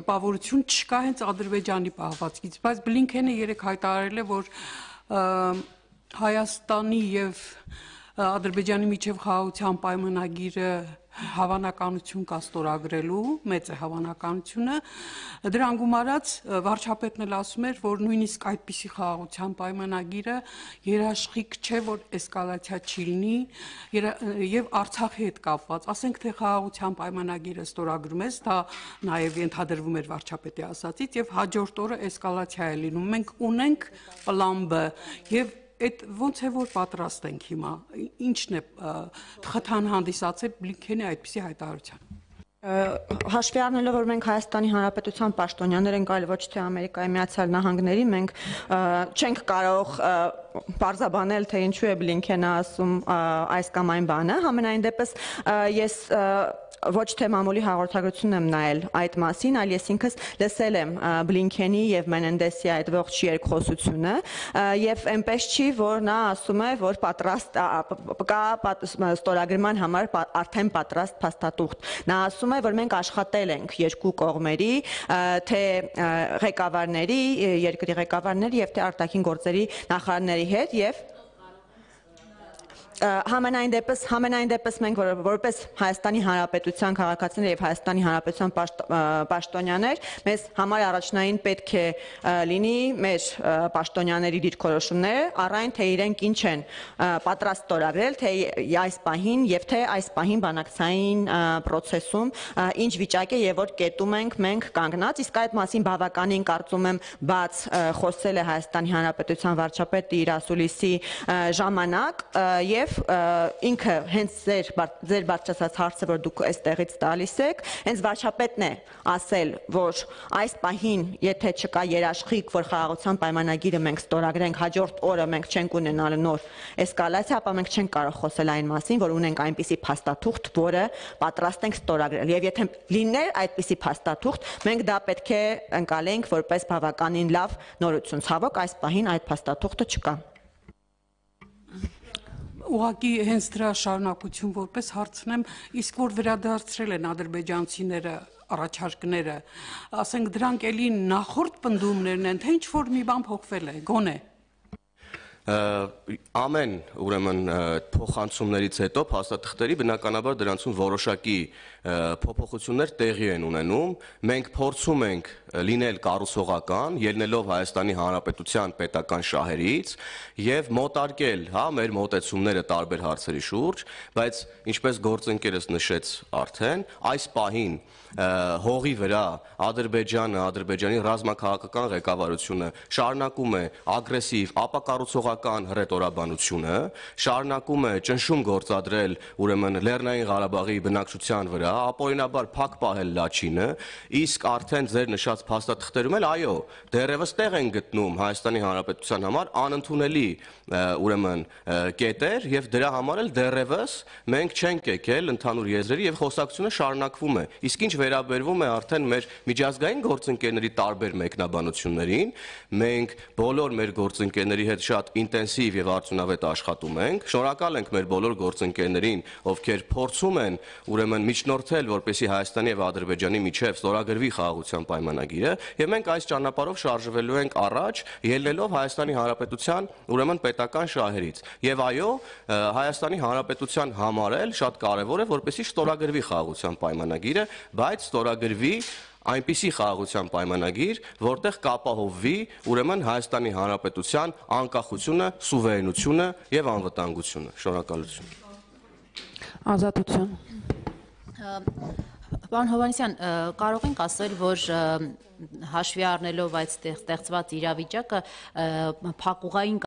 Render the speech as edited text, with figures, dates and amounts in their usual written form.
տպավորություն չկա հենց Ադրբեջանի պահվածքից, բայց Բլինքենը երեկ հայտարարել է, որ Հայաստանի եւ Ադրբեջանի միջև խաղաղության պայմանագիրը հավանականություն կա ստորագրելու, մեծ է հավանականությունը, դրան գումարած վարչապետն էլ ասում էր, որ նույնիսկ այդպիսի խաղաղության պայմանագիրը երաշխիք չէ, որ էսկալացիա չի լինի եւ Արցախի հետ կապված, ասենք թե խաղաղության պայմանագիրը ստորագրում ես, դա նաեւ ենթադրվում էր վարչապետի ասածից եւ հաջորդ օրը էսկալացիա է լինում, մենք ունենք պլան B եւ Այդ ոնց է որ պատրաստ ենք հիմա, ինչն է խթան հանդիսացել Բլինքենի այդպիսի հայտարարության։ Հաշվի առնելով, որ մենք Հայաստանի Հանրապետության պաշտոնյաներ ենք, այլ ոչ թե Ամերիկայի Միացյալ Նահանգների, մենք չենք կարող պարզաբանել, թե ինչու է Բլինքենը ասում այս կամ այն բանը, համենայն դեպս ես ոչ թե մամուլի հաղորդագրությունն եմ նայել այդ մասին, այլ ես ինքս լսել եմ Բլինքենի եւ Մենենդեսի այդ ողջ երկխոսությունը եւ այնպես չի, որ նա ասում է, որ պատրաստ կա ստորագրման համար արդեն պատրաստ փաստաթուղթ։ Նա ասում է, որ մենք աշխատել ենք երկու կողմերի, թե ղեկավարների, երկրի ղեկավարների եւ թե արտաքին գործերի նախարարների հետ եւ Համենայն դեպս մենք որպես Հայաստանի Հանրապետության քաղաքացիներ եւ Հայաստանի Հանրապետության պաշտոնյաներ մեզ համար առաջնային պետք է լինի մեր պաշտոնյաների դիրքորոշումները առայն թե իրենք ինչ են պատրաստ ստորագրել թե այս պահին եւ թե այս պահին բանակցային process-ում ինչ վիճակ է եւ որ կետում ենք մենք կանգնած իսկ այդ մասին բավականին կարծում եմ բաց խոսել է Հայաստանի Հանրապետության վարչապետը իր ասուլիսի ժամանակ եւ ինքը հենց ձեր բարձրացած հարցը որ դուք այստեղից տալիս եք հենց վարչապետն է ասել որ այս պահին եթե չկա երաշխիք որ խաղաղության պայմանագիրը մենք ստորագրենք հաջորդ օրը մենք չենք ունենալ նոր էսկալացիա ապա մենք չենք կարող խոսել այն մասին որ ունենք այնպիսի փաստաթուղթ որը պատրաստ ենք ստորագրել եւ եթե լիներ այդպիսի փաստաթուղթ մենք դա պետք է ընկալենք որպես բավականին լավ նորություն ցավոք այս պահին այդ փաստաթուղթը չկա Ուղղակի հենց դրա շարունակություն որպես հարցնեմ, իսկ որ վերադարձրել են ադրբեջանցիները առաջարկները, ասենք դրանք էլի նախորդ պնդումներն են, թե ինչ որ մի բան փոխվել է, գոնե Ամեն ուրեմն փոխանցումներից հետո փաստաթղթերի բնականաբար դրանցում որոշակի փոփոխություններ տեղի են ունենում մենք փորձում ենք լինել կառուցողական ելնելով Հայաստանի Հանրապետության պետական շահերից եւ մոտարկել հա մեր մոտեցումները տարբեր հարցերի շուրջ բայց ինչպես գործընկերս նշեց արդեն այս պահին հողի վրա Ադրբեջանը Ադրբեջանի ռազմաքաղաքական ղեկավարությունը շարունակում է ագրեսիվ ապակառուցողական հռետորաբանությունը շարունակում է ճնշում գործադրել ուրեմն Լեռնային Ղարաբաղի բնակչության վրա ապօրինաբար փակ պահել լաչինը իսկ արդեն ձեր նշած փաստաթղթերում էլ այո դեռևս տեղ են գտնում Հայաստանի Հանրապետության համար անընդունելի ուրեմն կետեր եւ դրա համար էլ դեռևս մենք չենք եկել ընդհանուր եզրերի եւ խոսակցությունը շարունակվում է իսկ ինչ վերաբերվում է արդեն մեր միջազգային գործընկերների տարբեր մեկնաբանություններին մենք բոլոր մեր գործընկերների հետ շատ ինտենսիվ եւ արդյունավետ աշխատում ենք շնորհակալ ենք մեր բոլոր գործընկերներին ովքեր փորձում են ուրեմն միջնորդել որպեսզի Հայաստանի եւ Ադրբեջանի միջև ստորագրվի խաղաղության պայմանագիրը եւ մենք այս ճանապարհով շարժվելու ենք առաջ ելնելով Հայաստանի Հանրապետության ուրեմն պետական շահերից եւ այո Հայաստանի Հանրապետության համար էլ շատ կարեւոր է որպեսզի ստորագրվի խաղաղության պայմանագիրը բայց ստորագրվի այնպիսի խաղաղության պայմանագիր, որտեղ կապահովվի ուրեմն Հայաստանի Հանրապետության անկախությունը, սուվերենությունը եւ անվտանգությունը։ Շնորհակալություն։ Ազատություն։ Պարոն Հովհաննիսյան, կարող ենք ասել, որ հաշվի առնելով այդ ստեղծված իրավիճակը փակուղային